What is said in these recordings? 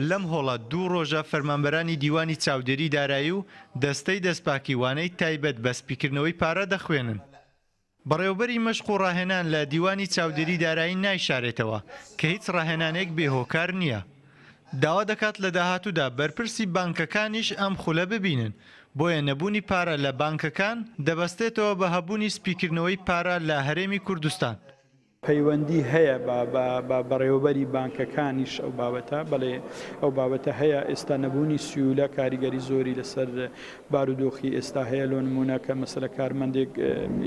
لەم هۆڵە دوو ڕۆژە فەرمانبەرانی دیوانی چاودێری دارایی و دەستەی دەستپاکی وانەی تایبەت بە سپیکردنەوەی پارە دەخوێنن. بەڕێوەبەری مەشق و ڕاهێنان لە دیوانی چاودێری دارایی نایشارێتەوە کە هیچ ڕاهێنانێک بێ هۆکار نییە. داوا دەکات لە داهاتوودا بەرپرسی بانکەکانیش ئەم خولە ببینن، بۆیە نەبوونی پارە لە بانکەکان دەبەستێتەوە بە هەبوونی سپیکردنەوەی پارە لە هەرێمی کوردستان. پەیوەندی هەیە بە بە بەڕێوەبەری بانکەکانیش ئەو بابەتە بەڵێ ئەو بابەتە هەیە ئێستا نەبوونی سیولە کاریگەری زۆری لەسەر بارودۆخی ئێستا هەیە لۆ نمونە کە مەسەلە کارمەندێک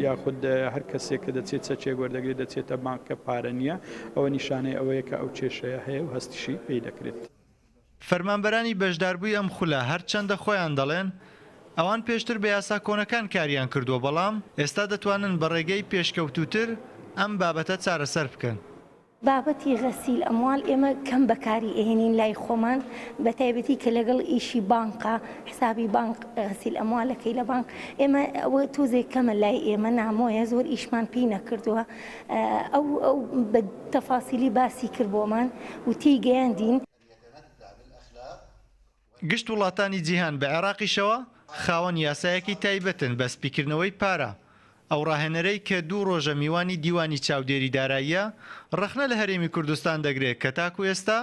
یاخود هەر کەسێک کە دەچێت چەکێک وەردەگرێت دەچێتە بانک کە پارە نییە ئەوە نیشانەی ئەوەیە کە ئەو کێشەیە هەیە و هەستیشی پێی دەکرێت. فەرمانبەرانی بەشداربووی ئەم خولە هەرچەندە خۆیان دەڵێن ئەوان پێشتر بە یاسا کۆنەکان کاریان کردووە، بەڵام ئێستا دەتوانن بە ڕێگەی پێشکەوتووتر ئەم بابەتە چارەسەر بکەن. بابەتی غسیل اموال ئێمە کەم بەکاری ئەهێنین لای خۆمان بەتایبەتی کە لەگەڵ ئیشی بانقە حسابی بانق غسیل اموالەکەی لە بانق ئێمە ئەوە تۆزێک کەمە لای ئێمە نامۆیە زۆر ئیشمان پێی نەکردووە ئەو ئەو بە تەفاسیلی باسی کرد بۆمان و تێی گەیاندین. گشت وڵاتانی جیهان بە عێراقیشەوە خاوەن یاسایەکی تایبەتن بە سپیکردنەوەی پارە، ئەو ڕاهێنەرەی کە دوو ڕۆژە میوانی دیوانی چاودێری داراییە، ڕەخنە لە هەرێمی کوردستان دەگرێت کە تاکو ئێستا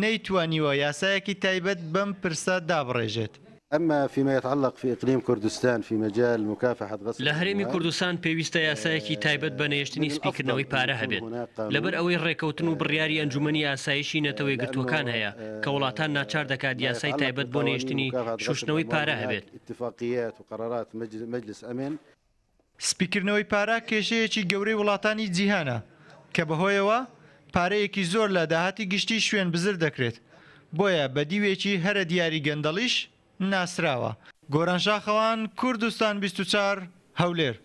نەیتوانیوە یاسایەکی تایبەت بەم پرسە دابڕێژێت. اما فيما يتعلق في اقليم كردستان في مجال مكافحة غسل لە هەرێمی الاموال کوردستان پێویستە یاسایەکی تایبەت بە نەهێشتنی من الافضل سپیکردنەوەی ان پارە يكون هەبێت، هناك لەبەر قانون ئەوەی ڕێکەوتن و بڕیاری ئەنجومەنی ئاسایشی نەتەوە یەکگرتووەکان لانه هەیە کە وڵاتان ناچار دەکات ما یاسای يتعلق تایبەت بۆ بقوانين نەهێشتنی مكافحة غسل شوشتنەوەی الاموال پارە هناك هەبێت. اتفاقيات وقرارات مجلس امن. سپیکردنەوەی پارە کێشەیەکی گەورەی وڵاتانی جیهانە کە بەهۆیەوە پارەیەکی زۆر لە داهاتی گشتی شوێن بزر دەکرێت، بۆیە بە دیوێکی هەرە دیاری گەندەڵیش ناسراوە. گۆران شاخەوان، کوردستان 24، هەولێر.